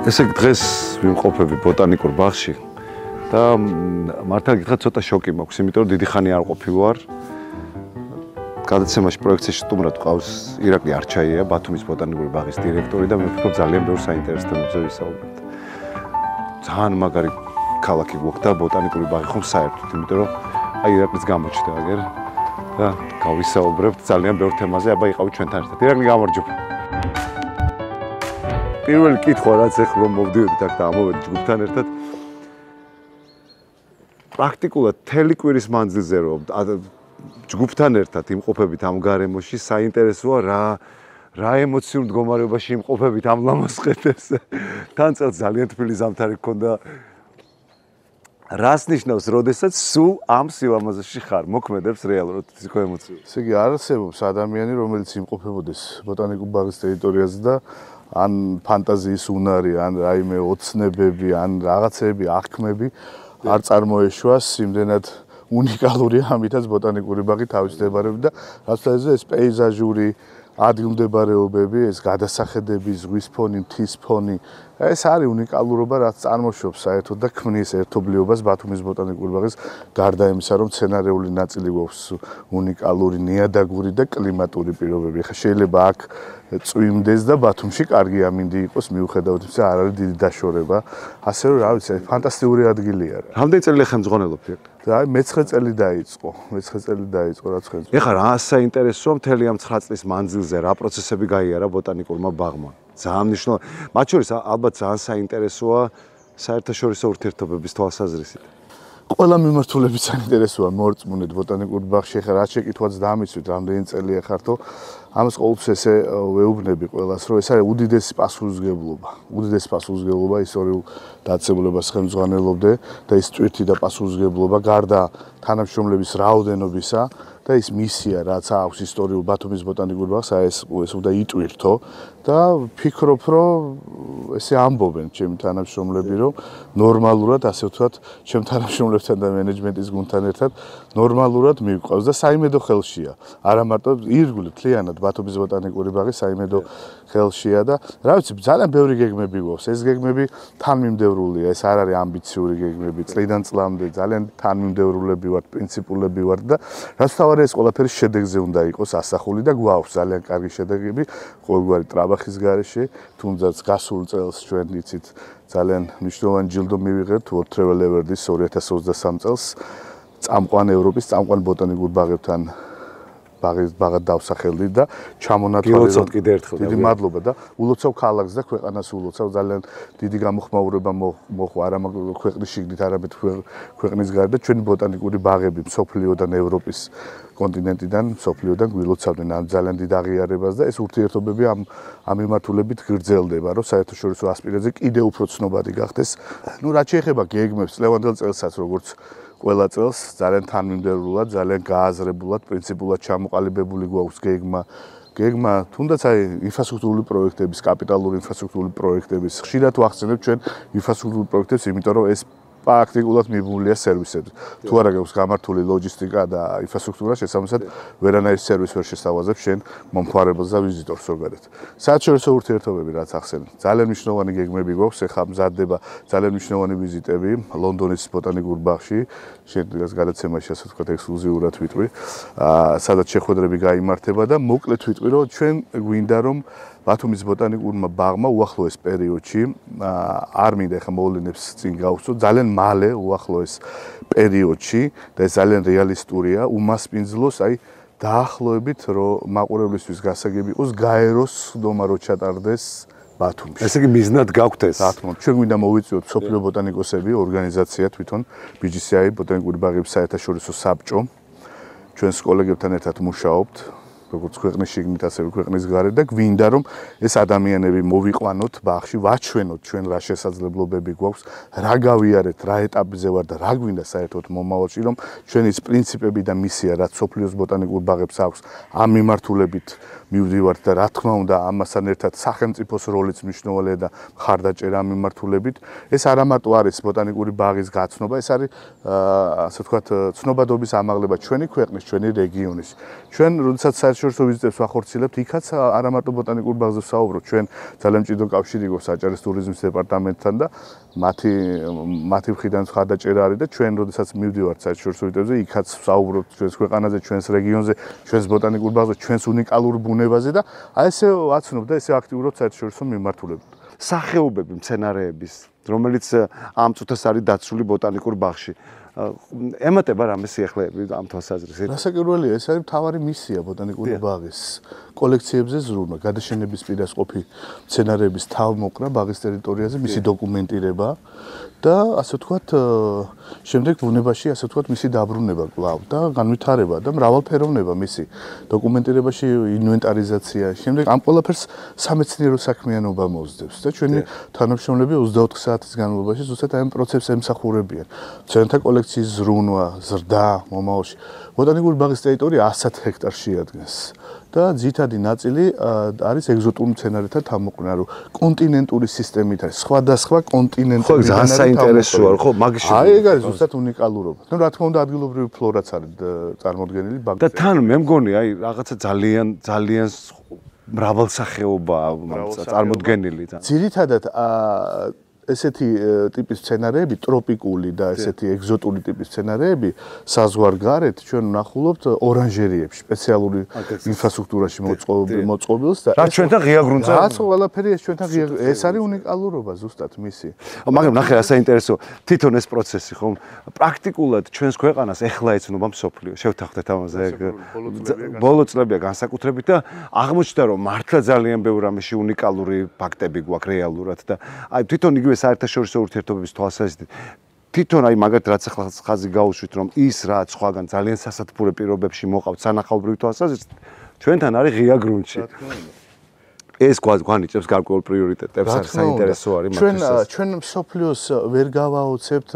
ესე იგი დღეს ვიმყოფები ბოტანიკურ ბაღში და მართლა გითხრათ ცოტა შოკი მაქვს, იმიტომ რომ დიდი ხანი არ ყოფილი ვარ. გადაცემაში პროექციაში სტუმრად ყავს ირაკლი არჩაია, ბათუმის ბოტანიკური ბაღის დირექტორი და მე ვფიქრობ ძალიან ბევრ საინტერესო თემებზე ვისაუბრებთ. ძალიან მაგარი ქალაქი გვაქვს და ბოტანიკური ბაღი ხომ საერთოდ, იმიტომ რომ აი ირაკლიც გამოჩნდა აგერ და გავისაუბრებთ ძალიან ბევრ თემაზე, აბა იყავით ჩვენთან ერთად. ირაკლი გამარჯობა. პირველი კითხვა რაც ეხლა რომ მოვდივით აქ და ამოვედი ჯგუფთან ერთად პრაქტიკულად მთელი კვირის მანძილზე რომ ჯგუფთან ერთად იმყოფებით ამ გარემოში საინტერესოა რა ემოციურ მდგომარეობაში იმყოფებით ამ ლამაზ ხედებზე თან წელს ძალიან თბილი ზამთარი გქონდა რას ნიშნავს როდესაც სულ ამ სილამაზეში ხარ მოქმედებს რეალურად ისო ემოციები ესე იგი არ არსებობს ადამიანი რომელიც იმყოფებოდეს ბოტანიკურ ბაღის ტერიტორიაზე და ან ფანტაზიის უნარი, ან რაიმე ოცნებები, ან რაღაცები, აღქმები არ წარმოეშვას იმდენად უნიკალური ამითაც ბოტანიკური ბაღი თავისდებარები და რასაც ეს პეიზაჟური ადგილმდებარეობები, ეს გადასახედები, ზღვის ფონი, მთის ფონი, ეს არის უნიკალურობა, რაც წარმოშობს საერთოდ და ქმნის ერთობლიობას ბათუმის ბოტანიკური ბაღის გარდა იმისა, რომ სცენარეული ნაწილი გვაქვს უნიკალური, ნიადაგური და კლიმატური პირობები. ხა შეიძლება აქ წვიმდეს და ბათუმში კარგი ამინდი იყოს, მიუხედავად იმისა, არ არის დიდი დაშორება. ასე რომ, რა ვიცი, ფანტასტიკური ადგილია. რამდენი წელი ხელმძღვანელობთ? და აი მე-9 წელი დაიწყო. მე-9 წელი დაიწყო რაც ხელმძღვანელობა. ეხლა რა საინტერესოა მთელი ამ 9 წლის მანძილზე რა პროცესები გაიარა ბოტანიკურმა ბაღმა? ძალიან მნიშვნელოვანი. მათ შორის ალბათ ძალიან საინტერესოა საერთაშორისო ურთიერთობების თვალსაზრისით. ყველა მიმართულებით საინტერესოა მორწმუნეთ ბოტანიკურ ბაღში. ეხლა რა შეკითხვაც დამისვით, რამდენი წელია ხართო. ამას ყოველთვის ესე ვეუბნები ყველას, რომ ეს არის უდიდესი პასუხისმგებლობა. უდიდესი პასუხისმგებლობა ისტორიულ დაწესებულებას ხელმძღვანელობდე და ის ტვირთი და პასუხისმგებლობა გარდა თანამშრომლების რაოდენობისა და ის მისია, რაც აქვს ისტორიულ ბათუმის ბოტანიკურ ბაღს, ეს უნდა იტვირთო და ვფიქრობ, რომ ესე ამბობენ ჩემი თანამშრომლები, რომ ნორმალურად, ასე ვთქვათ, ჩემ თანამშრომლებთან და მენეჯმენტის გუნდთან ერთად ნორმალურად მივყავს და საიმედო ხელშია. არა მარტო ირგვლივ მთლიანად ბათუმის ბოტანიკური ბაღი საიმედო ხელშია და რა ვიცი, ძალიან ბევრი გეგმები გვაქვს. ეს გეგმები თანმიმდევრულია, ეს არ არის ამბიციური გეგმები. წლიდან წლამდე ძალიან თანმიმდევრულები ვართ, პრინციპულები ვართ და რაც თავარი ეს ყველაფერი შედეგზე უნდა იყოს ასახული და გვაქვს ძალიან კარგი შედეგები ყოველგვარი ტრაბახის გარეშე, თუნდაც გასულ წელს ჩვენ იცით ძალიან მნიშვნელოვანი ჯილდო მივიღებთ World Travel Award-ის 2023 წელს წამყვან ევროპის წამყვან ბოტანიკურ ბაღებთან ბაღად დავსახელდი და ჩამონათვალე კიდე ერთხელ დიდი მადლობა და ულოცავ ქალაქს და ქვეყანას ულოცავ ძალიან დიდი გამოხმაურება მოხვა არა მაგრამ ქვეყნის შიგნით არამედ ქვეყნის გარდა ჩვენი ბოტანიკური ბაღები მსოფლიოდან ევროპის კონტინენტიდან მსოფლიოდან გვილოცავდნენ ამ ძალიან დიდ აღიარებას და ეს ურთიერთობები ამ მიმართულებით გრძელდება რომ საერთაშორისო ასპირაციაზე კიდევ უფრო ცნობადი გახდეს ნუ რაც შეეხება გეგმებს წლევანდელ წელსაც როგორც ყველა წელს ძალიან თანმიმდევრულად, ძალიან გააზრებულად, პრინციპულად ჩამოყალიბებული გვაქვს გეგმა, თუნდაც აი ინფრასტრუქტურული პროექტების, კაპიტალური ინფრასტრუქტურული პროექტების, ხშირად ვახსენებ ჩვენ ინფრასტრუქტურულ პროექტებს, იმიტომ რომ ეს პრაქტიკულად მიბმულია სერვისებზე. თუ არა გაქვს გამართული ლოჯისტიკა და ინფრასტრუქტურა, შესაბამისად ვერანაირი სერვისი ვერ შესთავაზებ შენ მომხმარებელს და ვიზიტორს ზოგადად. საერთაშორისო ურთიერთობები რაც ახსენე, ძალიან მნიშვნელოვანი გეგმები გვაქვს, ეხლა მზადდება ძალიან მნიშვნელოვანი ვიზიტები ლონდონის ბოტანიკურ ბაღში, შენ დღეს გადაცემაში ასე ვთქვათ ექსკლუზიურად ვიტყვი, სადაც შეხვედრები გაიმართება და მოკლედ ვიტყვი, რომ ჩვენ გვინდა რომ ბათუმის ბოტანიკურმა ბაღმა უახლოეს პერიოდში არ მინდა ახლა მოვლენებს წინ გავუსწრო ძალიან მალე უახლოეს პერიოდში და ეს ძალიან რეალისტურია უმასპინძლოს აი დაახლოებით რომ მაყურებლისთვის გასაგები იყოს გაეროს ხდომა რო ჩატარდეს ბათუმში. ესე იგი მიზნად გაქვთ ეს. რა თქმა უნდა, ჩვენ გვინდა მოვიწვიოთ სოფლიო ბოტანიკოსები, ორგანიზაცია თვითონ BGCI ბოტანიკური ბაღების საერთაშორისო საბჭო. ჩვენს კოლეგებთან ერთად მუშაობთ. როგორც ქვეყნის შიგნით, ასევე ქვეყნის გარეთ და გვინდა რომ ეს ადამიანები მოვიყვანოთ ბაღში, ვაჩვენოთ ჩვენ რა შესაძლებლობები გვაქვს, რა გავიარეთ, რა ეტაპზე ვარ და რა გვინდა საერთოდ მომავალში, რომ ჩვენი პრინციპები და მისია, რაც სოფლიოს ბოტანიკურ ბაღებს აქვს, ამ მიმართულებით მივდივართ და რა თქმა უნდა ამასთან ერთად სახელმწიფოს როლიც მნიშვნელოვანია და მხარდაჭერა ამ მიმართულებით. ეს არა მარტო არის ბოტანიკური ბაღის გაცნობა, ეს არის ასე ვთქვათ ცნობადობის ამაღლება ჩვენი ქვეყნის, ჩვენი რეგიონის. ჩვენ როდესაც საერთაშორისო ვიზიტებს ვახორციელებთ, იქაც არა მარტო ბოტანიკურ ბაღზე ვსაუბრობთ, ჩვენ ძალიან მჭიდრო კავშირი გვაქვს საჭარის ტურიზმის დეპარტამენტთან და მათი მხრიდან ხარდაჭერა არის და ჩვენ როდესაც მივდივართ საერთაშორისო ვიზიტებზე, იქაც ვსაუბრობთ ჩვენს ქვეყანაზე, ჩვენს რეგიონზე, ჩვენს ბოტანიკურ ბაღზე, ჩვენს უნიკალურ ბუნებაზე და აი ესე ვაცნობ და ესე აქტიურად საერთაშორისო მიმართულებთ. სახეობები მცენარეების, რომელიც ამ წუთას არის დაცული ბოტანიკურ ბაღში. ემატება რამე სიახლეები ამ თვალსაზრისით? რასაკვირველია, ეს არის მთავარი მისია ბოტანიკური ბაღის. კოლექციებზე ზრუნვა, გადაშენების პირას ყოფი მცენარეების თავმოყრა ბაღის ტერიტორიაზე, მისი დოკუმენტირება და ასე ვთქვათ, შემდეგ ბუნებაში ასე ვთქვათ, მისი დაბრუნება კვლავ და განვითარება და მრავალფეროვნება მისი დოკუმენტირებაში, ინვენტარიზაცია. შემდეგ ამ ყველაფერს სამეცნიერო საქმიანობა მოსდევს და ჩვენი თანამშრომლები 24 საათის განმავლობაში ზუსტად ამ პროცესს ემსახურებიან. მცენარეთა კოლექციის ზრუნვა, ზრდა მომავალში. ბოტანიკური ბაღის ტერიტორია 100 ჰექტარს შეადგენს. და ძირითადი ნაწილი არის ეგზოტურ მცენარეთა თავმოყრა, რომ კონტინენტური სისტემით არის, სხვადასხვა კონტინენტური მცენარეთა ძალიან საინტერესოა, ხო, მაგის აი ეგ არის ზუსტად უნიკალურობა. ნუ რა თქმა უნდა ადგილობრივი ფლორაც არის წარმოდგენილი ბაღში. და თან მე მგონი, აი რაღაცა ძალიან მრავალსახეობაა წარმოდგენილი. ძირითადად ესეთი ტიპის მცენარეები, ტროპიკული და ესეთი ეგზოტური ტიპის მცენარეები საზღვარგარეთ ჩვენ ვნახულობთ ორანჟერიებში, სპეციალური ინფრასტრუქტურაში მოწყობილს და რა ჩვენთან ღია გრუნტზე? რაც ყველაფერი ეს ჩვენთან ღია, ეს არის უნიკალურობა ზუსტად მისი. მაგრამ ნახე რა საინტერესო, თვითონ ეს პროცესი ხომ პრაქტიკულად ჩვენს ქვეყანას ეხლა ეცნობა მსოფლიო. შევთანხმდეთ ამაზე. ბოლო წლებია განსაკუთრებით და აღმოჩნდა რომ მართლა ძალიან ბევრ რამეში უნიკალური ფაქტები გვაქვს რეალურად და აი თვითონ იგივე საერთაშორისო ურთიერთობების თვალსაზრისით თვითონ აი მაგათ რაც ახლა ხაზი გაუშვით რომ ის რაც სხვაგან ძალიან სასათბურე პირობებში მოყავთ სანახაობრივი თვალსაზრისით ჩვენთან არის ღია გრუნტში. ეს გვანიჭებს გარკვეულ პრიორიტეტებს, არის საინტერესო არის მათთვის. ჩვენ მსოფლიოს ვერ გავაოცებთ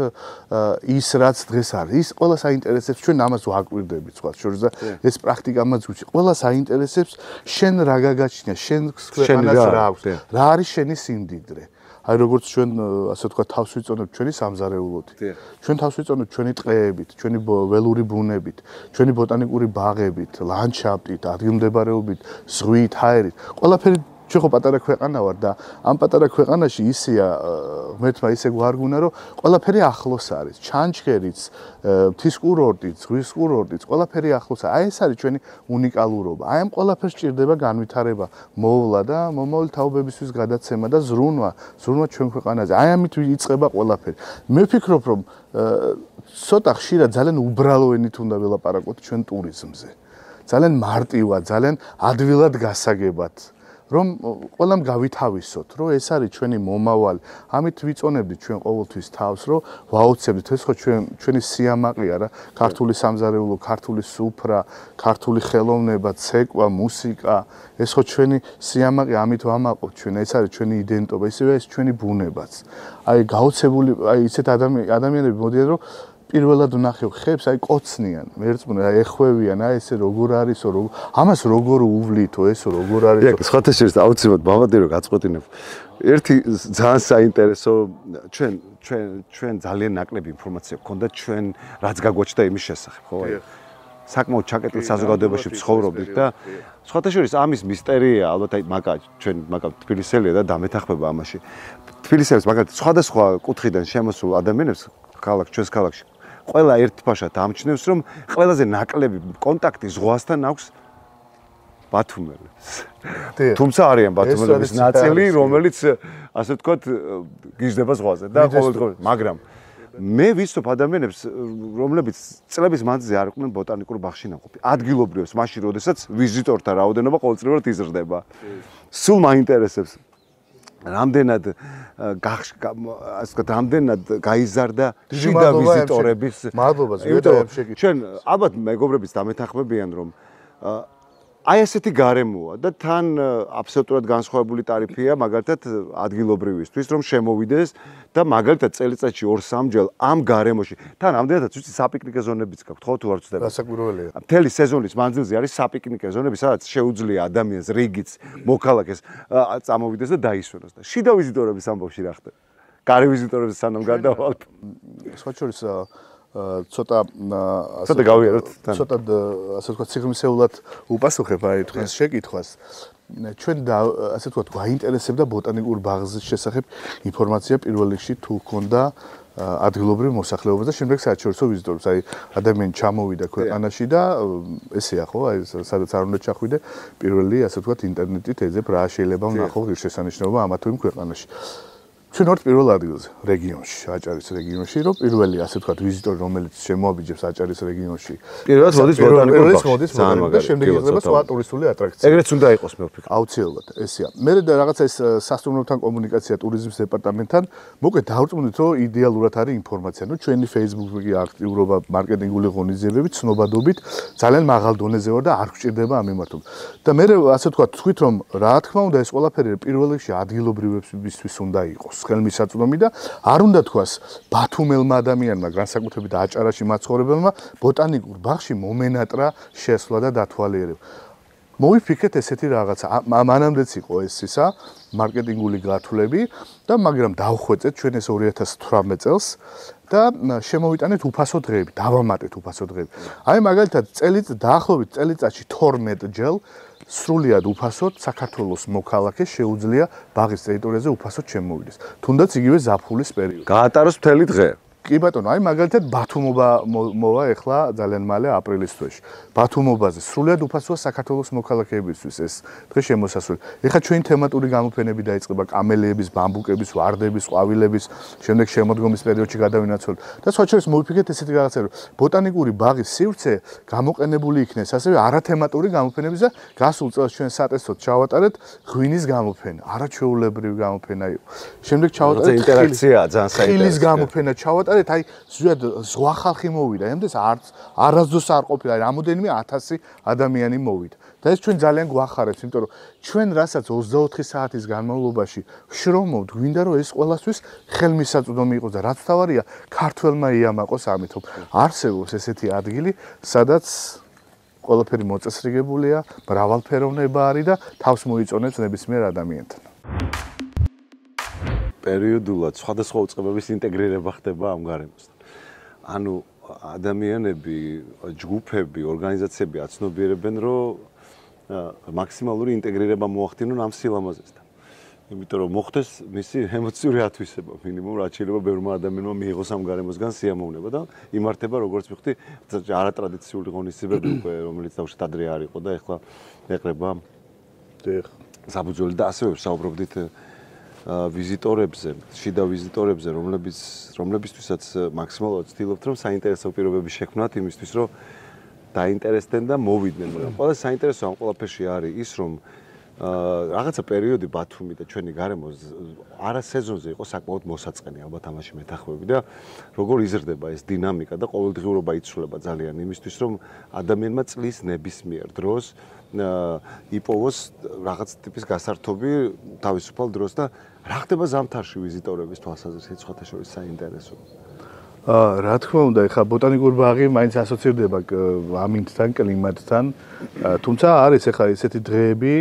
ის რაც დღეს არის. ის ყველა საინტერესებს, ჩვენ ამას ვაკვირდებით სხვა შორის და ეს პრაქტიკა მას გვიჩი. ყველა საინტერესებს შენ რა გაგაჩნია, შენ ქვეყანას რა აქვს, რა არის შენი სიმდიდრე. აი როგორც ჩვენ ასე ვთქვათ თავს ვიწონებთ ჩვენი სამზარეულოთი. ჩვენ თავს ვიწონებთ ჩვენი ტყეებით, ჩვენი ველური ბუნებით, ჩვენი ბოტანიკური ბაღებით, ლანდშაფტით, ადგილმდებარეობით, ზღვით, ჰაერით. ყველაფერი ჩვენ ხო პატარა ქვეყანა ვარ და ამ პატარა ქვეყანაში ისეა ღმერთმა ისე გვარგუნა რომ ყველაფერი ახლოს არის. ჩანჩქერიც, მთის კურორტიც, ზღვის კურორტიც, ყველაფერი ახლოს არის. აი ეს არის ჩვენი უნიკალურობა. აი ამ ყველაფერს ჭირდება განვითარება, მოვლა და მომავალი თაობებისთვის გადაცემა და ზრუნვა ჩვენ ქვეყანაზე. აი ამით იწყება ყველაფერი. მე ვფიქრობ რომ ცოტა ხშირად ძალიან უბრალო ენით უნდა ველაპარაკოთ ჩვენ ტურიზმზე. ძალიან მარტივად, ძალიან ადვილად გასაგებად. რომ ყველამ გავითავისოთ, რომ ეს არის ჩვენი მომავალი. ამით ვიწონებდით ჩვენ ყოველთვის თავს, რომ ვაოცებდით ეს ხო ჩვენი სიამაყეა რა, ქართული სამზარეულო, ქართული სუფრა, ქართული ხელოვნება, ცეკვა, მუსიკა, ეს ხო ჩვენი სიამაყე, ამით ვამაყობთ ჩვენ, ეს არის ჩვენი იდენტობა, ისევე ეს ჩვენი ბუნებაც. აი გაოცებული, აი ისეთ ადამიანები მოდიან, რომ პირველად ვნახევ ხებს, აი კოცნიან, მერწმუნე, აი ეხვევიან, აი ესე როგორ არისო, ამას როგორ უვლიითო, ესო როგორ არისო. იქ სხვათა შორის აუცილებლად მამადი რომ გაწყვეტინებ. ერთი ძალიან საინტერესო ჩვენ ძალიან ნაკლები ინფორმაცია გქონდა ჩვენ რაც გაგვაჩნდა იმის შესახებ, ხო? საკმაოდ ჩაკეტილ საზოგადოებაში ვცხოვრობდით და სხვათა შორის ამის მისტერია, ალბათ აი ჩვენ თბილისელია და დამეთახმება ამაში. თბილისელის მაგალითად სხვადასხვა კუთხიდან შემოსულ ადამიანებს ჩვენს ქალაქში ყველა ერთფაშად ამჩნევს რომ ყველაზე ნაკლები კონტაქტი ზღვასთან აქვს ბათუმელებს. თუმცა არიან ბათუმელების ნაწილი, რომელიც ასე ვთქვათ გიждდება ზღვაზე და ყოველდღიურად, მაგრამ მე ვიცნობ ადამიანებს, რომლებიც წლების მანძილზე არ იყვნენ ბოტანიკურ ბაღში ნაყოფი. ადგილობრივებს, მაშინ როდესაც ვიზიტორთა რაოდენობა ყოველწლიურად იზრდება. სულ მაინტერესებს რამდენად რამდენად გაიზარდა შიდა ვიზიტორების მადლობა ზოგადად შეკითხვა. ჩვენ ალბათ მეგობრებიც დამეთანხმებიან რომ აი ესეთი გარემოა და თან აბსოლუტურად განსხვავებული ტარიფია მაგალითად ადგილობრივისთვის რომ შემოვიდეს და მაგალითად წელიწადში 2-3 ჯერ ამ გარემოში თან ამდენადაც ვიცი საპიკნიკე ზონებიც გაქვთ ხო თუ არ ვწდება რასაკვირველია მთელი სეზონის მანძილზე არის საპიკნიკე ზონები სადაც შეუძლია ადამიანს რიგიც მოქალაქეს წამოვიდეს და დაისვენოს და შიდა ვიზიტორების ამბავში რა ხდება გარე ვიზიტორების სანამ გადავალთ სხვა შორის ცოტა გავიაროთ ცოტა ასე ვთქვათ სიღრმისეულად უპასუხებ აი თქვენს შეკითხვას. ჩვენ ასე ვთქვათ გვაინტერესებდა ბოტანიკურ ბაღის შესახებ ინფორმაცია პირველ რიგში თუ ჰქონდა ადგილობრივ მოსახლეობას და შემდეგ საერთაშორისო ვიზიტორებს. აი ადამიანი ჩამოვიდა ქვეყანაში და ესეა ხო, აი სადაც არ უნდა ჩახვიდე, პირველი ასე ვთქვათ ინტერნეტით ეძებ რა შეიძლება ვნახო ღირსშესანიშნაობა ამა თუ იმ ქვეყანაში. ჩვენ ვართ პირველ ადგილზე რეგიონში, აჭარის რეგიონში, რომ პირველი ასე ვთქვათ ვიზიტორი რომელიც შემოაბიჯებს აჭარის რეგიონში. პირველად მოდის ბოტანიკურ ბაღში. და შემდეგ იღება სხვა ტურისტული ატრაქცია. ეგრეც უნდა იყოს მე ვფიქრობ. აუცილებლად, ესეა. მე და რაღაცა ეს სასტუმროებთან კომუნიკაცია ტურიზმის დეპარტამენტთან, მოკლედ დავწმუნდით, რომ იდეალურად არის ინფორმაცია. ნუ ჩვენი Facebook-ი აქტიურობა, მარკეტინგული ღონისძიებები, ცნობადობით ძალიან მაღალ დონეზე ვარ და არ გვჭირდება ამ მიმართულებით. და მე ასე ვთქვათ, თქვით რომ რა თქმა უნდა ეს ყველაფერი პირველ რიგში ადგილობრივებისთვის უნდა იყოს. ხელმისაწვდომი და არ უნდა თქვას ბათუმელმა ადამიანმა, განსაკუთრებით აჭარაში მაცხოვრებელმა ბოტანიკურ ბაღში მომენატრა შესვლა და დათვალიერება. მოვიფიქრეთ ესეთი რაღაცა. მანამდეც იყო ეს ისა მარკეტინგული გათვლები და მაგრამ დავხვეწეთ ჩვენ ეს 2018 წელს და შემოვიტანეთ უფასო დღეები, დავამატეთ უფასო დღეები. აი მაგალითად დაახლოებით წელიწადში 12 ჯერ სრულიად უფასოდ საქართველოს მოქალაქეს შეუძლია ბაღის ტერიტორიაზე უფასოდ შემოვიდეს. თუნდაც იგივე ზაფხულის პერიოდში. გაატაროს მთელი დღე. კი ბატონო, აი მაგალითად ბათუმობა მოვა ეხლა ძალიან მალე აპრილის თვეში. ბათუმობაზე სრულიად უფასოა საქართველოს მოქალაქეებისთვის ეს დღე შემოსასვლელი. ეხლა ჩვენი თემატური გამოფენები დაიწყება კამელიების, ბამბუკების, ვარდების, ყვავილების, შემდეგ შემოდგომის პერიოდში გადავინაცვლოთ. და სხვა შორის მოვიფიქრეთ ესეთი რაღაცა, რომ ბოტანიკური ბაღის სივრცე გამოყენებული იქნეს ასევე არათემატური გამოფენების და გასულ წელს ჩვენ სატესტოდ ჩავატარეთ ღვინის გამოფენა, არაჩვეულებრივი გამოფენა იყო. შემდეგ ჩავატარეთ ინტერაქციაა ძალიან საინტერესო. ხილის გამოფენა ჩავატარეთ. აი ზუსტად ზღვა ხალხი მოვიდა, ამდენს არასდროს არ ყოფილა, რამოდენიმე 1000 ადამიანი მოვიდა. და ეს ჩვენ ძალიან გვახარებს, იმიტომ რომ ჩვენ რასაც 24 საათის განმავლობაში შრომობთ, გვინდა რომ ეს ყველასთვის ხელმისაწვდომი იყოს და რაც თავარია, ქართველმა იამაყოს ამით. არსებობს ესეთი ადგილი, სადაც ყველაფერი მოწესრიგებულია, მრავალფეროვნება არის და თავს მოიწონებს ნებისმიერ ადამიანთან. პერიოდულად სხვადასხვა უწყებების ინტეგრირება ხდება ამ გარემოსთან. ანუ ადამიანები, ჯგუფები, ორგანიზაციები აცნობიერებენ, რომ მაქსიმალური ინტეგრირება მოახდინონ ამ სილამაზესთან. იმიტომ რომ მოხდეს მისი ემოციური ათვისება, მინიმუმ რაც შეიძლება ბევრმა ადამიანმა მიიღოს ამ გარემოსგან სიამოვნება და იმართება როგორც ვიხდი არატრადიციული ღონისძიებები უკვე, რომელიც თავშეთ ადრე არ იყო და ეხლა ეყრება საბუძველი და ასევე საუბრობდით ვიზიტორებზე, შიდა ვიზიტორებზე, რომლებისთვისაც მაქსიმალურად ვცდილობთ, რომ საინტერესო პირობები შექმნათ იმისთვის, რომ დაინტერესდნენ და მოვიდნენ. ყველა საინტერესო ამ ყველაფერში არის ის, რომ რაღაცა პერიოდი ბათუმი და ჩვენი გარემო არა სეზონზე იყო საკმაოდ მოსაწყენი, ალბათ ამაში მეთანხმები და როგორ იზრდება ეს დინამიკა და ყოველდღიურობა იცვლება ძალიან იმისთვის, რომ ადამიანმა წლის ნებისმიერ დროს იპოვოს რაღაც ტიპის გასართობი თავისუფალ დროს და რა ხდება ზამთარში ვიზიტორების თვალსაზრისით სხვათა შორის საინტერესო. რა თქმა უნდა, ეხლა ბოტანიკური ბაღი მაინც ასოცირდება ამინდთან, კლიმატთან. თუმცა არის ეხლა ესეთი დღეები,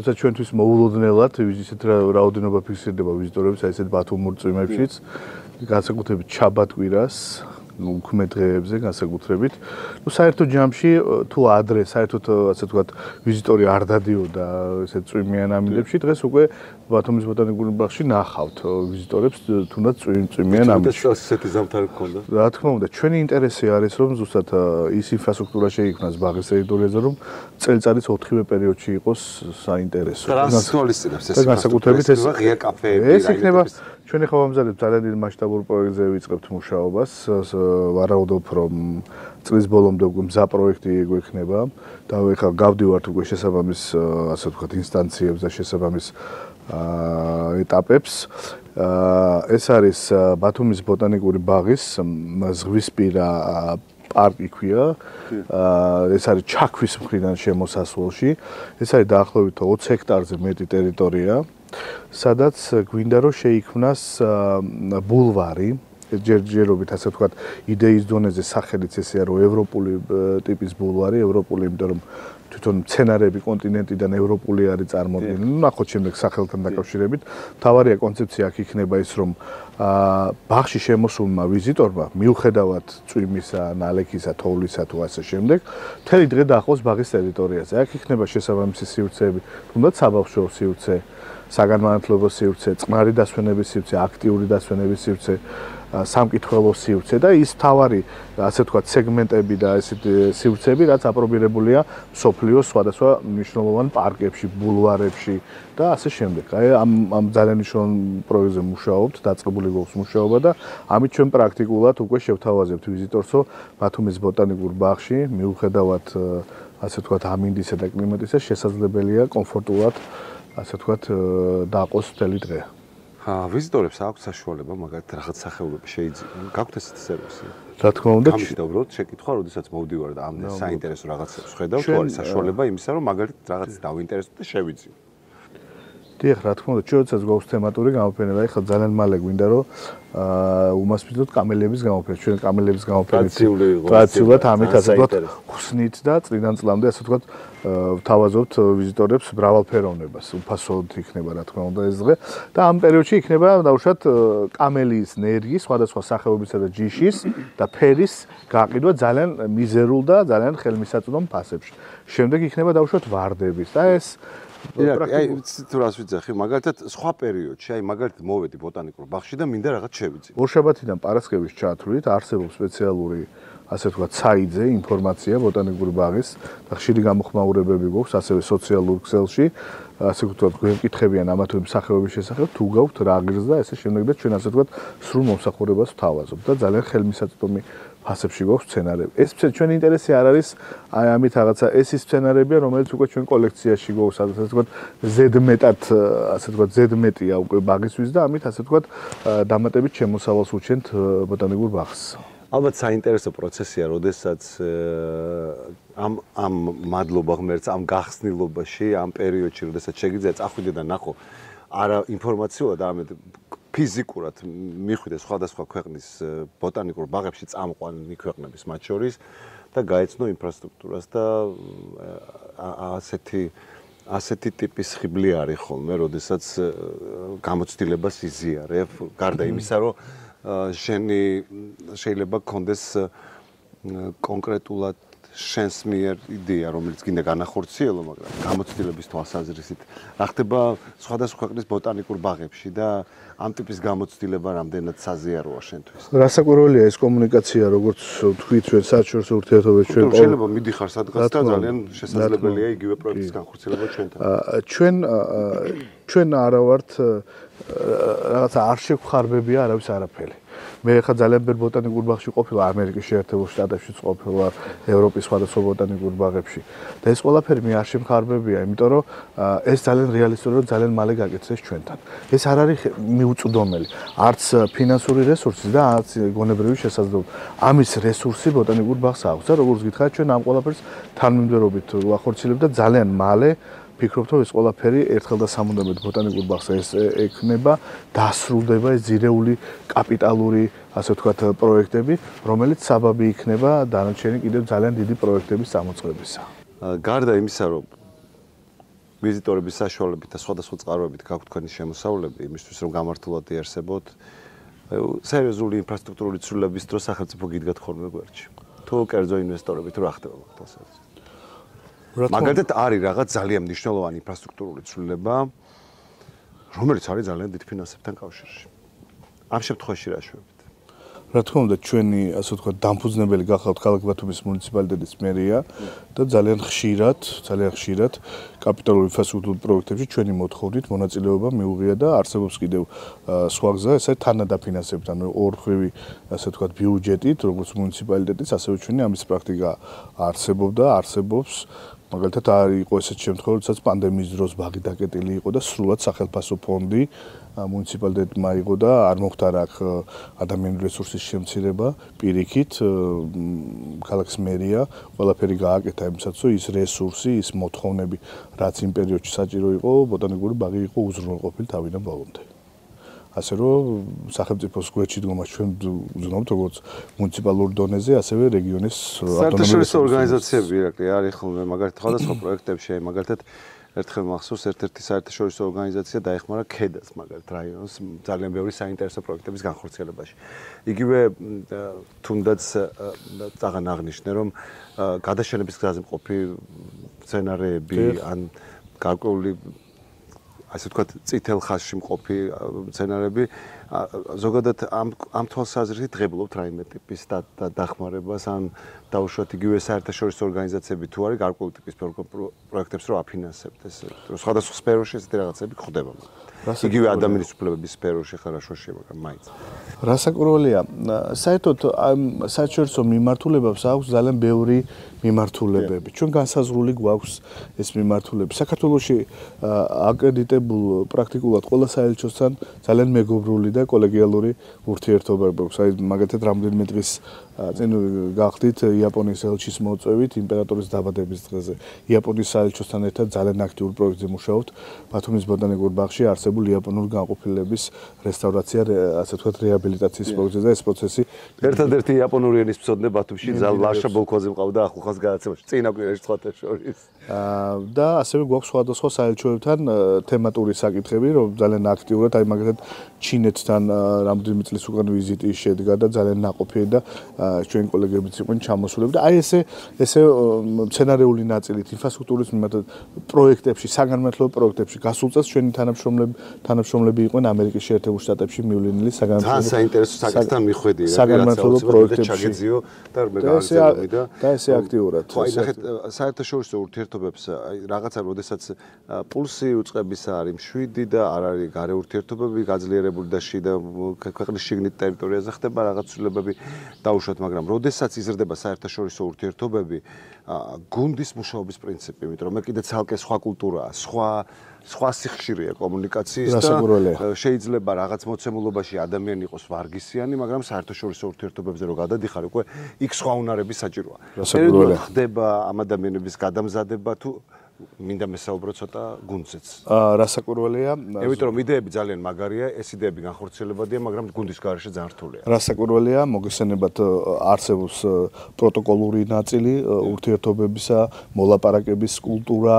როცა ჩვენთვის მოულოდნელად ისეთ რაოდენობა ფიქსირდება ვიზიტორების, აი ესეთ ბათუმურ წვიმებშიც, განსაკუთრებით შაბათ-კვირას, უქმე დღეებზე განსაკუთრებით. ნუ საერთო ჯამში თუ ადრე საერთოდ ასე ვთქვათ ვიზიტორი არ დადიოდა ესეთ წვიმიან ამინდებში, დღეს უკვე ბათუმის ბოტანიკურ ბაღში ნახავთ ვიზიტორებს თუნდაც წვიმიან ამინდებში. ესეთი ზამთარი გქონდა. რა თქმა უნდა, ჩვენი ინტერესი არის რომ ზუსტად ის ინფრასტრუქტურა შეიქმნას ბაღის ტერიტორიაზე, რომ წელიწადის 4-ვე პერიოდში იყოს საინტერესო. განსაკუთრებით ეს განსაკუთრებით ეს ღია კაფეები, ეს იქნება ჩვენ ახლა ვამზადებთ ძალიან დიდ მასშტაბურ პროექტზე ვიწყებთ მუშაობას. ვარაუდობ რომ წლის ბოლომდე უკვე მზა პროექტი გვექნება და ახლა გავდივართ უკვე შესაბამის ასე ვთქვათ ინსტანციებს და შესაბამის ეტაპებს. ეს არის ბათუმის ბოტანიკური ბაღის ზღვისპირა პარკი ქვია. ეს არის ჩაქვის მხრიდან შემოსასვლელში. ეს არის დაახლოებით 20 ჰექტარზე მეტი ტერიტორია, სადაც გვინდა რომ შეიქმნას ბულვარი. ჯერჯერობით ასე ვთქვათ იდეის დონეზე სახელიც ესეა რომ ევროპული ტიპის ბულვარი, ევროპული, იმიტომ რომ თვითონ მცენარეები კონტინენტიდან ევროპული არის წარმოდგენილი. ნახოთ შემდეგ სახელთან დაკავშირებით. თავარია კონცეფცია აქ იქნება ის რომ ბაღში შემოსულმა ვიზიტორმა მიუხედავად წვიმისა, ნალექისა, თოვლისა თუ ასე შემდეგ, მთელი დღე დაახოს ბაღის ტერიტორიაზე. აქ იქნება შესაბამისი სივრცეები, თუნდაც საბავშვო სივრცე, საგანმანათლებლო სივრცე, წყნარი დასვენების სივრცე, აქტიური დასვენების სივრცე, სამკითხველო სივრცე და ის თავარი, ასე ვთქვათ, სეგმენტები და ესეთ სივრცეები, რაც აპრობირებულია მსოფლიოს სხვადასხვა მნიშვნელოვან პარკებში, ბულვარებში და ასე შემდეგ. აი ამ ძალიან მნიშვნელოვან პროექტზე მუშაობთ, დაწყებული გვაქვს მუშაობა და ამით ჩვენ პრაქტიკულად უკვე შევთავაზებთ ვიზიტორსო ბათუმის ბოტანიკურ ბაღში, მიუხედავად ასე ვთქვათ ამინდისა და კლიმატისა, შესაძლებელია კომფორტულად ასე ვთქვათ დაყოს მთელი დღე. ვიზიტორებს აქვს საშუალება მაგალითად რაღაც სახეობები შეიძლება გაქვთ ესეთი სერვისი? რა თქმა უნდა, გამიშდა უბრალოდ შეკითხვა, როდესაც მოვდივარ და ამ საინტერესო რაღაცებს ხედავ, თუ არის საშუალება იმისა, რომ მაგალითად რაღაც დავინტერესდეთ და შევიძინო. დიახ, რა თქმა უნდა, ჩვენ როდესაც გვაქვს თემატური გამოფენება, ეხლა ძალიან მალე გვინდა რომ უმასპინძლოთ კამელიების გამოფენა. ჩვენ კამელიების გამოფენით ტრადიციულად ამით ასე ვთქვათ, ხსნით და წლიდან წლამდე ასე ვთქვათ ვთავაზობთ ვიზიტორებს მრავალფეროვნებას. უფასოდ იქნება რა თქმა უნდა ეს დღე და ამ პერიოდში იქნება დაუშვათ კამელიის ნერგის, სხვადასხვა სახეობისა და ჯიშის და ფერის გაყიდვა ძალიან მიზერულ და ძალიან ხელმისაწვდომ ფასებში. შემდეგ იქნება დაუშვათ ვარდების და ეს აი თუ რას ვიძახი, მაგალითად სხვა პერიოდში, აი მაგალითად მოვედი ბოტანიკურ ბაღში და მინდა რაღაც შევიძინო. ორშაბათიდან პარასკევის ჩათვლით არსებობს სპეციალური ასე ვთქვათ საიძე ინფორმაცია ბოტანიკური ბაღის და ხშირი გამოხმაურებები გვაქვს ასევე სოციალურ ქსელში, ასე ვთქვათ გვეკითხებიან ამა თუ იმ სახეობის შესახებ, თუ გაქვთ რა ღირს და ესე შემდეგ და ჩვენ ასე ვთქვათ სრულ მომსახურებას ვთავაზობთ და ძალიან ხელმისაწვდომი ფასებში გვაქვს სცენარები. ეს ჩვენ ინტერესი არ არის აი ამით რაღაცა ეს ის სცენარებია, რომელიც უკვე ჩვენ კოლექციაში გვაქვს, ასე ვთქვათ, ზედმეტად, ასე ვთქვათ, ზედმეტია უკვე ბაღისთვის და ამით ასე ვთქვათ, დამატებით შემოსავალს უჩენთ ბოტანიკურ ბაღს. ალბათ საინტერესო პროცესია, როდესაც ამ მადლობა ღმერთს, ამ გახსნილობაში, ამ პერიოდში, როდესაც შეგიძლია წახვიდე და ნახო არა ინფორმაციულად, არამედ ფიზიკურად მიხვიდე სხვადასხვა ქვეყნის ბოტანიკურ ბაღებში წამყვანი ქვეყნების მათ შორის და გაეცნო ინფრასტრუქტურას და ასეთი ტიპის ხიბლი არის ხოლმე, როდესაც გამოცდილებას იზიარებ, გარდა იმისა, რომ შენი შეიძლება გქონდეს კონკრეტულად შენს მიერ იდეა, რომელიც გინდა განახორციელო, მაგრამ გამოცდილების თვალსაზრისით რა ხდება სხვადასხვა ქვეყნის ბოტანიკურ ბაღებში და ამ ტიპის გამოცდილება რამდენად საზიაროა შენთვის? რასაკვირველია ეს კომუნიკაცია, როგორც თქვით ჩვენ საერთაშორისო ურთიერთობებში ჩვენ შეიძლება მიდიხარ სადღაც და ძალიან შესაძლებელია იგივე პროექტის განხორციელება ჩვენთან. ჩვენ არა ვართ რაღაცა არ შევხარბებია არავის არაფერი. მე ხა ძალიან ბევრ ბოტანიკურ ბაღში ყოფილა, ამერიკის შეერთებულ შტატებშიც ყოფილა, ევროპის სხვადასხვა ბოტანიკურ ბაღებში და ეს ყველაფერი მე არ შემხარბებია, იმიტომ რომ ეს ძალიან რეალისტურია, ძალიან მალე გაკეთდეს ჩვენთან. ეს არ არის მიუწვდომელი, არც ფინანსური რესურსი და არც გონებრივი შესაძლებლობა. ამის რესურსი ბოტანიკურ ბაღს აქვს და როგორც გითხარით, ჩვენ ამ ყველაფერს თანმიმდევრობით ვახორციელებთ და ძალიან მალე ფიქრობთ, რომ ეს ყველაფერი ერთხელ და სამუდამოდ ბოტანიკურ ბაღს ექნება, დასრულდება ეს ძირეული კაპიტალური, ასე ვთქვათ, პროექტები, რომელიც საბაბი იქნება დანარჩენი კიდევ ძალიან დიდი პროექტების წამოწყებისა. გარდა იმისა, რომ ვიზიტორების საშუალებით და სხვადასხვა წყაროებით გაქვთ თქვენი შემოსავლები, იმისთვის რომ გამართულად იარსებოთ, სერიოზული ინფრასტრუქტურული ცვლილების დროს სახელმწიფო გიდგათ ხოლმე გვერდში. თუ კერძო ინვესტორები თუ რა ხდება მაგას? მაგალითად არის რაღაც ძალიან მნიშვნელოვანი ინფრასტრუქტურული ცვლილება, რომელიც არის ძალიან დიდ ფინანსებთან კავშირში. ამ შემთხვევაში რა შვებით? რა თქმა უნდა, ჩვენი ასე ვთქვათ, დამფუძნებელი გახავთ ქალაქ ბათუმის მუნიციპალიტეტის მერია და ძალიან ხშირად კაპიტალურ ინფრასტრუქტურულ პროექტებში ჩვენი მოთხოვნით მონაწილეობა მიუღია და არსებობს კიდევ სხვა გზა, ეს არის თანადაფინანსებით, ანუ ორხვევი ასე ვთქვათ, ბიუჯეტით, როგორც მუნიციპალიტეტის, ასევე ჩვენი ამის პრაქტიკა არსებობს. მაგალითად იყო ესეთი შემთხვევა, როდესაც პანდემიის დროს ბაღი დაკეტილი იყო და სრულად სახელმწიფო ფონდი მუნიციპალიტეტმა იღო და არ მოხდა აქ ადამიანური რესურსის შემცირება, პირიქით ქალაქის მერია ყველაფერი გააკეთა იმისათვის, რომ ის რესურსი, ის მოთხოვნები, რაც იმ პერიოდში საჭირო იყო, ბოტანიკური ბაღი იყო უზრუნველყოფილი თავიდან ბოლომდე. ასე რომ სახელმწიფოს გვერდში დგომას ჩვენ ვზნობთ როგორც მუნიციპალურ დონეზე, ასევე რეგიონის საერთაშორისო ორგანიზაციები არის ხოლმე მაგალითად სხვადასხვა პროექტებში, მაგალითად ერთხელ მახსოვს ერთ-ერთი საერთაშორისო ორგანიზაცია დაეხმარა ქედას მაგალითად რაიონს ძალიან ბევრი საინტერესო პროექტების განხორციელებაში. იგივე თუნდაც წაღან აღნიშნე რომ გადაშენების გზაზე მყოფი სცენარეები ან გარკვეული ასე ვთქვათ წითელ ხაზში მყოფი სცენარეები ზოგადად ამ თვალსაზრისით ღებულობთ რაიმე ტიპის დახმარებას ან დაუშვათ იგივე საერთაშორისო ორგანიზაციები თუ არის გარკვეული ტიპის პროექტებს რო აფინანსებთ ეს სხვადასხვა სფეროში ესეთი რაღაცები ხდება იგივე ადამიანის უფლებების სფეროში ხარაშოში მაგრამ მაინც რასაკურველია საერთოდ ამ საერთაშორისო მიმართულებებს აქვს ძალიან ბევრი მიმართულებები ჩვენ განსაზღვრული გვაქვს ეს მიმართულებები საქართველოში აკრედიტებულ პრაქტიკულად ყველა საელჩოსთან ძალიან მეგობრული და კოლეგიალური ურთიერთობები აქვს აი მაგალითად რამდენიმე დღის წინ გახდით იაპონიის ელჩის მოწვევით იმპერატორის დაბადების დღეზე იაპონიის საელჩოსთან ერთად ძალიან აქტიურ პროექტზე მუშაობთ ბათუმის ბოტანიკურ ბაღში არსებულ იაპონური განყოფილების რესტავრაცია ასე ვთქვათ რეაბილიტაციის პროექტზე და ეს პროცესი ერთადერთი იაპონური ენის მცოდნე ბათუმში ლაშა ბოლქოზე მყავდა ახლახანს გადაცემაში წინა კვირაში სხვათა შორის და ასევე გვაქვს სხვადასხვა საელჩოებთან თემატური საკითხები რომ ძალიან აქტიურად აი მაგალითად ჩინეთთან რამდენიმე წლის უკან ვიზიტი შედგა და ძალიან ნაყოფიერი და ჩვენი კოლეგებიც იყვნენ ჩამოსულები და აი ესე სცენარეული ნაწილით ინფრასტრუქტურის მიმართ პროექტებში საგანმანათლებლო პროექტებში გასულ წელს ჩვენი თანამშრომლები იყვნენ ამერიკის შეერთებულ შტატებში მივლენილი საგანმანათლებლო პროექტებში და მე გავაგზავნე და ესე აქტიურად საერთაშორისო ურთიერთობებს აი რაღაცა როდესაც პულსი უწყებისა არის 7 და არ არის გარე ურთიერთობები გაძლიერებული და შიდა ქვეყნის შიგნით ტერიტორიაზე ხდება რაღაც ცვლილებები დაუშვათ მაგრამ როდესაც იზრდება საერთაშორისო ურთიერთობები გუნდის მუშაობის პრინციპი იმიტომ რომ მე კიდე ცალკე სხვა კულტურაა სხვა სიხშირეა კომუნიკაციის და შეიძლება რაღაც მოცემულობაში ადამიანი იყოს ვარგისიანი მაგრამ საერთაშორისო ურთიერთობებზე რო გადადიხარ უკვე იქ სხვა უნარები საჭიროა ხდება ამ ადამიანების გადამზადება თუ მინდა მესაუბრო ცოტა გუნდზეც. რასაკურველია? იმიტომ რომ იდეები ძალიან მაგარია, ეს იდეები განხორციელებადია, მაგრამ გუნდის გარეშე ძალიან რთულია. რასაკურველია, მოგესალმებათ არსებობს პროტოკოლური ნაწილი ურთიერთობებისა, მოლაპარაკების კულტურა,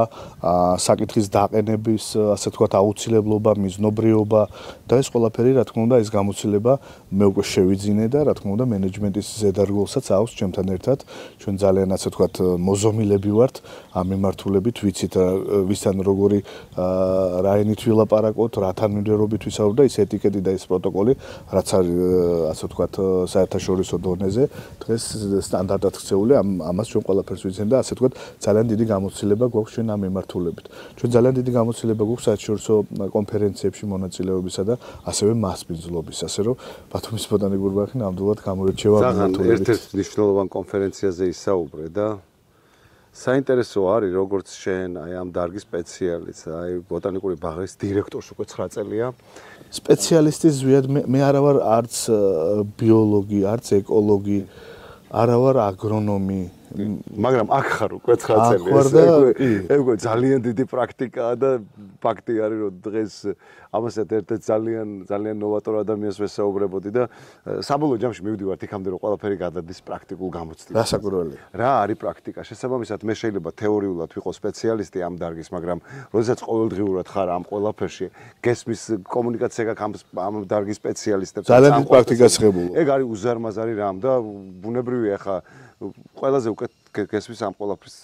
საკითხის დაყენების, ასე ვთქვათ, აუცილებლობა, მიზნობრიობა და ეს ყველაფერი, რა თქმა უნდა, ეს გამოცდილება მე უკვე შევიძინე და რა თქმა უნდა, მენეჯმენტის ზედარგულსაც აქვს ჩემთან ერთად. ჩვენ ძალიან ასე ვთქვათ, მოზომილები ვართ ამ მიმართულებით ვიცით ვისთან როგორი რაინით ვილაპარაკოთ, რათან მიმდევრობით ვისაუბროთ და ის ეტიკეტი და ეს პროტოკოლი, რაც არის ასე ვთქვათ საერთაშორისო დონეზე, დღეს სტანდარტად ქცეული, ამას ჩვენ ყველაფერს ვიცენ და ასე ვთქვათ ძალიან დიდი გამოცდილება გვაქვს ჩვენ ამ მიმართულებით. ჩვენ ძალიან დიდი გამოცდილება გვაქვს საერთაშორისო კონფერენციებში მონაწილეობისა და ასევე მასპინძლობის, ასე რომ ბათუმის ბოტანიკური ბაღი ნამდვილად გამოირჩევა მიმართულებით. ერთ-ერთ მნიშვნელოვან კონფერენციაზე ისაუბრე და საინტერესო არის როგორც შენ აი ამ დარგის სპეციალისტ, აი ბოტანიკური ბაღის დირექტორს უკვე 9 წელია. სპეციალისტი ზვიად მე არა ვარ არც ბიოლოგი, არც ეკოლოგი, არა ვარ აგრონომი, მაგრამ აქ ხარ უკვე 9 წელი. ეგ ძალიან დიდი პრაქტიკაა და ფაქტი არის რომ დღეს ამასაც ერთ-ერთ ძალიან ნოვატორ ადამიანს ვესაუბრებოდი და საბოლოო ჯამში მივდივართ იქამდე რომ ყველაფერი გადადის პრაქტიკულ გამოცდილებას. რასაკურველია? რა არის პრაქტიკა? შესაბამისად მე შეიძლება თეორიულად ვიყო სპეციალისტი ამ დარგის, მაგრამ როდესაც ყოველდღიურად ხარ ამ ყველაფერში, გესმის კომუნიკაცია გაქვს ამ დარგის სპეციალისტებს. ძალიან დიდი პრაქტიკას ღებულობ. ეგ არის უზარმაზარი რამ და ბუნებრივია ხა ყველაზე უკეთ გესმის ამ ყველაფრის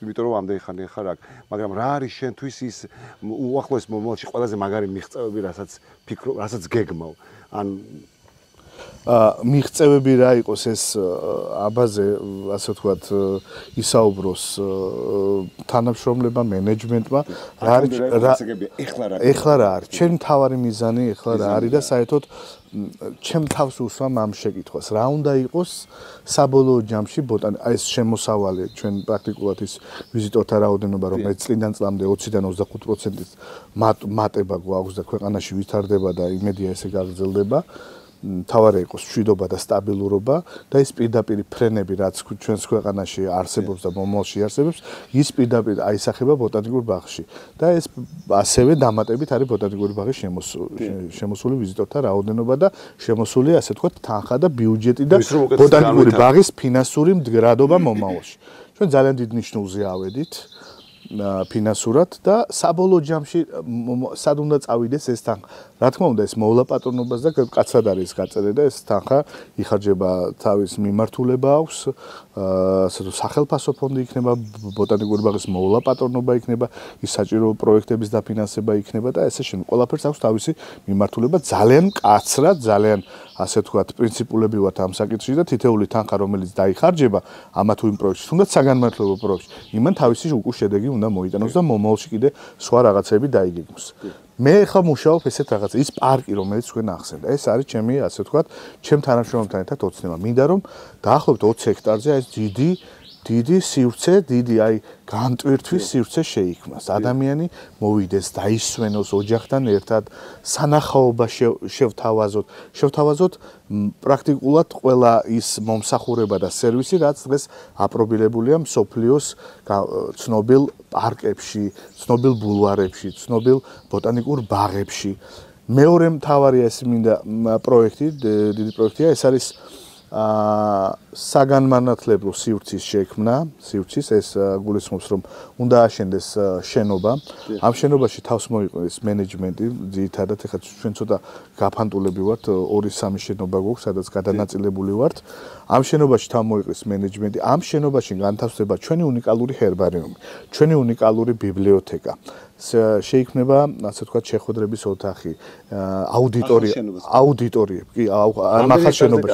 იმიტომ რომ ამდენი ხანი ხარ აქ, მაგრამ რა არის შენთვის ის უახლოეს მომავალში ყველაზე მაგარი მიღწევები, რასაც გეგმავ? ან მიღწევები რა იყოს ეს აბაზე, ასე ვთქვათ, ისაუბროს თანამშრომლებმა, მენეჯმენტმა, რა არის ეხლა რა არის? ჩემი მთავარი მიზანი ეხლა რა არის და საერთოდ ჩემ თავს უსვამ ამ შეკითხვას. რა უნდა იყოს საბოლოო ჯამში აი ეს შემოსავალი ჩვენ პრაქტიკულად ის ვიზიტორთა რაოდენობა რომელიც წლიდან წლამდე 20-დან 25%-ის მატება გვაქვს და ქვეყანაში ვითარდება და იმედია ესე გაგრძელდება. თავარი იყოს მშვიდობა და სტაბილურობა და ის პირდაპირ ფრენები რაც ჩვენს ქვეყანაში არსებობს და მომავალში არსებობს ის პირდაპირ აისახება ბოტანიკურ ბაღში და ეს ასევე დამატებით არის ბოტანიკური ბაღის შემოსული ვიზიტორთა რაოდენობა და შემოსული ასე ვთქვათ თანხა და ბიუჯეტი და ბოტანიკური ბაღის ფინანსური მდგრადობა მომავალში ჩვენ ძალიან დიდ ნიშნულზე ავედით ფინანსურად და საბოლოო ჯამში სად უნდა წავიდეს ეს თანხა. Რა თქმა უნდა ეს მოვლა პატრონობას და კაცად არის გაწერილი და ეს თანხა იხარჯება თავის მიმართულება აქვს, სახელმწიფო ფონდი იქნება, ბოტანიკური ბაღის მოვლა პატრონობა იქნება, ის საჭირო პროექტების დაფინანსება იქნება და ესე შემდეგ. ყველაფერს აქვს თავისი მიმართულება, ძალიან მკაცრად, ძალიან ასე ვთქვათ, პრინციპულებრივად ამ საკითხში და თითეული თანხა რომელიც დაიხარჯება ამა თუ იმ პროექტში, თუნდაც საგანმანათლებლო პროექტში, იმან თავისი უკუ შედეგი უნდა მოიტანოს და მომავალში კიდე სხვა რაღაცები დაიგეგმოს. მე ხა მუშაობ ესეთ რაღაცა, ის პარკი რომელიც თქვენ ახსენდა, ეს არის ჩემი ასე ვთქვათ, ჩემ თანამშრომელთან ერთად ოცნება. მინდა რომ დაახლოებით 20 ჰექტარზე ეს დიდი სივრცე, დიდი აი განტვირთვის სივრცე შეიქმნას. ადამიანი მოვიდეს, დაისვენოს ოჯახთან ერთად, სანახაობა შევთავაზოთ პრაქტიკულად ყველა ის მომსახურება და სერვისი, რაც დღეს აპრობირებულია მსოფლიოს ცნობილ პარკებში, ცნობილ ბულვარებში, ცნობილ ბოტანიკურ ბაღებში. მეორე მთავარია ეს მინდა პროექტი, დიდი პროექტია, ეს არის საგანმანათლებლო სივრცის შექმნა, სივრცის ეს გულისხმობს რომ უნდა აშენდეს შენობა. ამ შენობაში თავს მოიყენეს მენეჯმენტი, ძირითადად ეხლა ჩვენ ცოტა გაფანტულები ვართ, 2-3 შენობა გვაქვს, სადაც გადანაწილებული ვართ. ამ შენობაში თან მოიყენეს მენეჯმენტი. ამ შენობაში განთავსდება ჩვენი უნიკალური ჰერბარიუმი, ჩვენი უნიკალური ბიბლიოთეკა. შეიქმნება, ასე ვთქვათ, შეხვედრების ოთახი, აუდიტორიები, კი, ახალ შენობაში.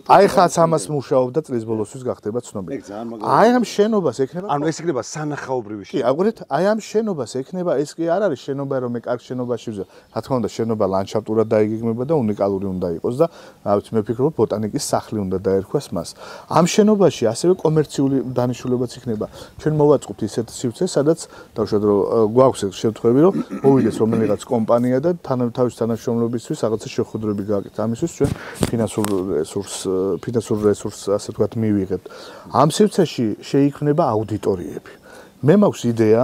აი ხაც ამას მუშაობ და წლის ბოლოსთვის გახდება ცნობილი. აი ამ შენობას ექნება, ანუ ეს იქნება სანახაობრივი შენობა. კი, აგურით, აი ამ შენობას ექნება, ეს კი არ არის შენობა, რომ მე კარგ შენობაში ვზა. რა თქმა უნდა, შენობა ლანდშაფტურად დაიგეგმება და უნიკალური უნდა იყოს და რა ვიცი, მე ვფიქრობ, ბოტანიკის სახლი უნდა დაერქვას მას. ამ შენობაში ასევე კომერციული დანიშნულებაც იქნება. ჩვენ მოვაწყობთ ისეთ სივრცეს, სადაც დავუშვათ, რომ გვაქვს შემთხვევები, რომ მოვიდეს რომელიღაც კომპანია და თავის თანამშრომლობისთვის რაღაცა შეხვედრები გააკეთეთ. ამისთვის ჩვენ ფინანსურ რესურსს, ასე ვთქვათ, მივიღებთ. ამ სივრცეში შეიქმნება აუდიტორიები. მე მაქვს იდეა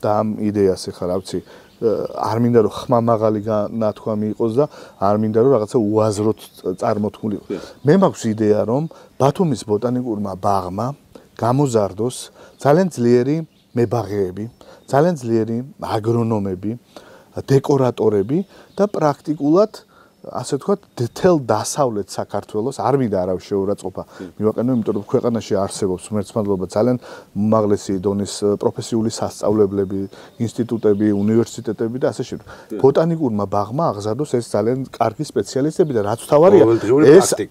და ამ იდეას ეხლა რა ვიცი, არ მინდა რომ ხმამაღალი ნათქვამი იყოს და არ მინდა რომ რაღაცა უაზროდ წარმოთქმული იყოს. მე მაქვს იდეა რომ ბათუმის ბოტანიკურმა ბაღმა გამოზარდოს ძალიან ძლიერი მებაღეები, ძალიან ძლიერი აგრონომები, დეკორატორები და პრაქტიკულად ასე ვთქვათ, თელ დასავლეთ საქართველოს არ მინდა არავის შეურაცხყოფა მივაყენო, იმიტომ რომ ქვეყანაში არსებობს მერცმადლობა ძალიან უმაღლესი დონის პროფესიული სასწავლებლები, ინსტიტუტები, უნივერსიტეტები და ასე შემდეგ. ბოტანიკურმა ბაღმა აღზარდოს ეს ძალიან კარგი სპეციალისტები და რაც თავარია,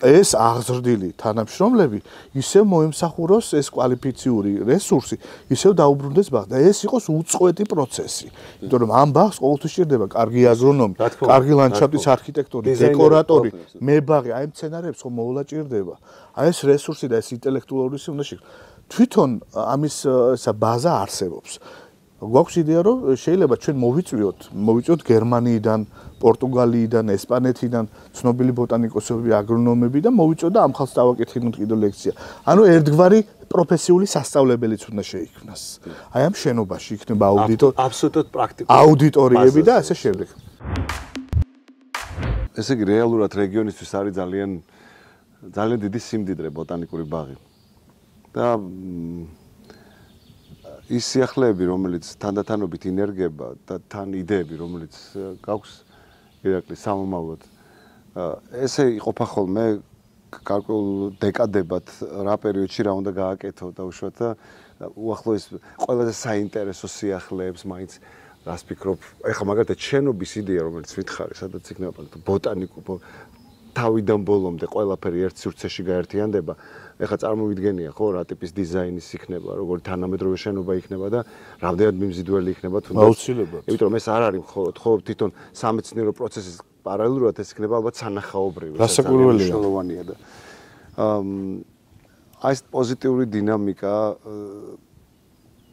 ეს აღზრდილი თანამშრომლები ისევ მოემსახუროს ეს კვალიფიციური რესურსი, ისევ დაუბრუნდეს ბაღს და ეს იყოს უწყვეტი პროცესი. იმიტომ რომ ამ ბაღს ყოველთვის სჭირდება კარგი აგრონომი, კარგი ლანდშაფტის არქიტექტორი, დეკორატორი, მებაღე, აი მცენარეებს ხომ მოვლაჭირდება. აი ეს რესურსი და ეს ინტელექტუალური რესურსი უნდა შექმნას. თვითონ ამის ესა ბაზა არსებობს. გვაქვს იდეა რომ შეიძლება ჩვენ მოვიწვიოთ გერმანიიდან, პორტუგალიიდან, ესპანეთიდან ცნობილი ბოტანიკოსები, აგრონომები და მოვიწვიოთ და ამ ხალხს დავაკითხინოთ კიდევ ლექცია. ანუ ერთგვარი პროფესიული სასწავლებელიც უნდა შეიქმნას. აი ამ შენობაში იქნება აბსოლუტურად პრაქტიკული აუდიტორიები და ასე შემდეგ. ესე იგი რეალურად რეგიონისთვის არის ძალიან დიდი სიმდიდრე ბოტანიკური ბაღი. და ის სიახლეები, რომელიც თანდათანობით ინერგება და თან იდეები, რომელიც გაქვს ირაკლის სამომავლოდ, ესე იყოფა ხოლმე გარკვეულ დეკადებად რა პერიოდში რა უნდა გააკეთო და უშუალოდ უახლოეს ყველაზე საინტერესო სიახლეებს მაინც რას ფიქრობ, ეხლა მაგალითად შენობის იდეა, რომელიც მითხარი, სადაც იქნება ბოტანიკურ თავიდან ბოლომდე ყველაფერი ერთ სივრცეში გაერთიანდება. ეხლა წარმოვიდგენია, ხო, რა ტიპის დიზაინის იქნება, როგორი თანამედროვე შენობა იქნება და რამდენად მიმზიდველი იქნება თუნდაც. აუცილებლად. იმიტომ რომ ეს არ არის მხოლოდ თვითონ სამეცნიერო პროცესის პარალელურად ეს იქნება ალბათ სანახაობრივი, მნიშვნელოვანია და აი ეს პოზიტიური დინამიკა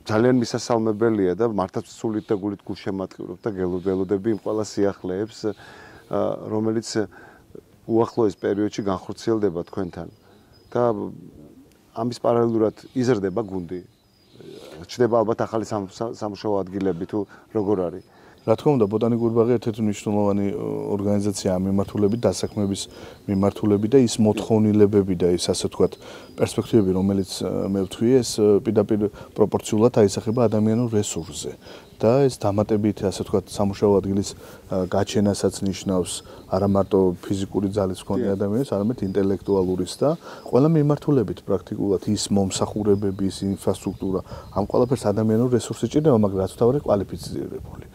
ძალიან მისასალმებელია და მართლაც სულით და გულით გულშემატკივრობ და გელოდები იმ ყველა სიახლეებს, რომელიც უახლოეს პერიოდში განხორციელდება თქვენთან და ამის პარალელურად იზრდება გუნდი. ჩნდება ალბათ ახალი სამუშაო ადგილები თუ როგორ არის? რა თქმა უნდა, ბოტანიკური ბაღი ერთ-ერთი მნიშვნელოვანი ორგანიზაციაა მიმართულებით, დასაქმების მიმართულებით და ის მოთხოვნილებები და ის ასე ვთქვათ, პერსპექტივები, რომელიც მე ვთქვი, ეს პირდაპირ პროპორციულად აისახება ადამიანურ რესურსზე. და ეს დამატებით, ასე ვთქვათ, სამუშაო ადგილის გაჩენასაც ნიშნავს არა მარტო ფიზიკური ძალის მქონე ადამიანებს, არამედ ინტელექტუალურის და ყველა მიმართულებით პრაქტიკულად ის მომსახურებები, ის ინფრასტრუქტურა, ამ ყველაფერს ადამიანურ რესურსი ჭირდება, მაგრამ რაც თავარი კვალიფიცირებული.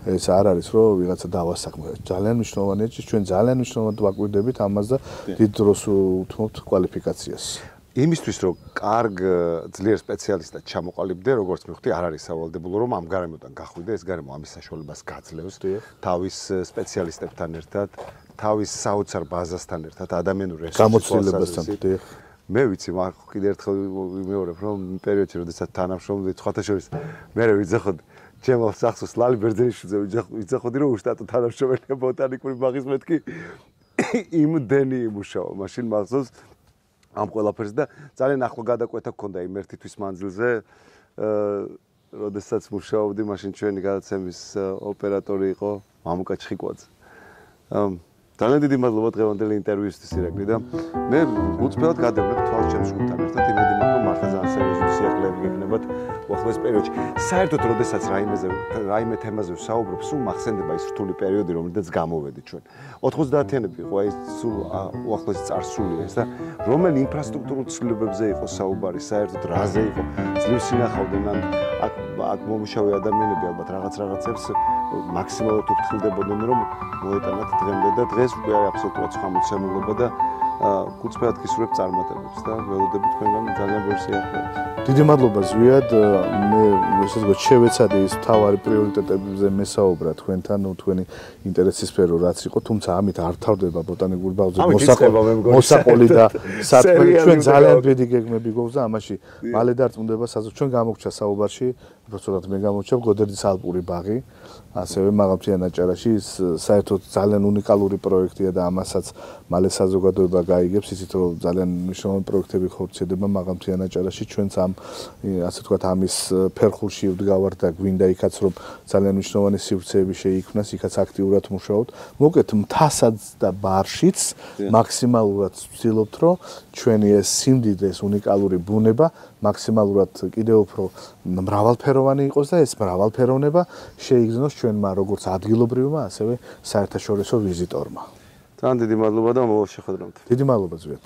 ეს არ არის რომ ვიღაცა დავასაქმებთ. ძალიან მნიშვნელოვანია, ჩვენ ძალიან მნიშვნელოვნად ვაკვირდებით ამას და დიდ დროს უთმობთ კვალიფიკაციას. იმისთვის რომ კარგ ძლიერ სპეციალისტად ჩამოყალიბდე, როგორც მივხვდი, არ არის სავალდებულო რომ ამ გარემოდან გახვიდე, ეს გარემო ამის საშუალებას გაძლევს თავის სპეციალისტებთან ერთად, თავის საოცარ ბაზასთან ერთად, ადამიანურ გამოცდილებასთან. მე ვიცი, მაგრამ კიდე ერთხელ ვიმეორებ, რომ პერიოდში, როდესაც თანამშრომლობდი, სხვათა შორის მე ვიძახოდი ჩემო სახსოვს ლალი ბერძენიშვილზე ვიძახოდი, რომ უშტატო თანამშრომელია ბოტანიკური ბაღის მეთქი იმდენი იმუშავა, მაშინ მახსოვს ამ ყველაფერს და ძალიან ახლო გადაკვეთა გქონდა იმ ერთი თვის მანძილზე, როდესაც მუშაობდი, მაშინ ჩვენი გადაცემის ოპერატორი იყო მამუკა ჩხიკვაძე. ძალიან დიდი მადლობა დღევანდელი ინტერვიუსთვის ირაკლი და მე უწფელად გადავნებ თვალს ჩემს ჯგუფთან ერთად იმედი მაქვს რომ მართლა ძალიან სერიოზული სიახლეები გექნებათ უახლოეს პერიოდში. საერთოდ როდესაც რაიმე თემაზე ვსაუბრობ, სულ მახსენდება ის რთული პერიოდი, რომელიდანაც გამოვედი ჩვენ. 90-იანები იყო ეს სულ უახლოესი წარსულია ეს და რომელი ინფრასტრუქტურულ ცვლილებებზე იყო საუბარი, საერთოდ რაზე იყო ძლივს ინახავდნენ აქ მომუშავე ადამიანები ალბათ რაღაცებს მაქსიმალურად უფრთხილდებოდნენ რომ მოეტანათ დღემდე და დღეს უკვე აბსოლუტურად სხვა მოცემულობა და გუწფრად გისურვებ წარმატებებს და ველოდებით თქვენგან ძალიან ბევრ სიახლეებს. დიდი მადლობა ზვიად, მე ესე ვთქვათ, შევეცადე ის მთავარი პრიორიტეტებზე მესაუბრა თქვენთან, თქვენი ინტერესის სფერო რაც იყო, თუმცა ამით არ თავდება ბოტანიკური ბაღზე მოსაყოლი და საქმე. ჩვენ ძალიან დიდი გეგმები გვაქვს და ამაში მალე დარწმუნდება საზოგადო. ჩვენ გამოგვჭა საუბარში, უბრალოდ მე გამოგვჭა გოდერძის ალპური ბაღი, ასევე მაღალმთიან აჭარაში, საერთოდ ძალიან უნიკალური პროექტია და ამასაც მალე საზოგადოება გაიგებს, ისიც რომ ძალიან მნიშვნელოვანი პროექტები ხორციელდება მაღალმთიან აჭარაში, ჩვენც ამ ასე ვთქვათ, ამის ფერხულში ვდგავართ და გვინდა იქაც რომ ძალიან მნიშვნელოვანი სივრცეები შეიქმნას, იქაც აქტიურად მუშაობთ. მოკეთ მთასაც და ბარშიც მაქსიმალურად ვცდილობთ, რომ ჩვენი ეს სიმდიდრე, ეს უნიკალური ბუნება მაქსიმალურად კიდევ უფრო მრავალფეროვანი იყოს და ეს მრავალფეროვნება შეიგრძნოს ჩვენმა როგორც ადგილობრივმა, ასევე საერთაშორისო ვიზიტორმა. ძალიან დიდი მადლობა და მომავალ შეხვედრამდე. დიდი მადლობა ზვიად.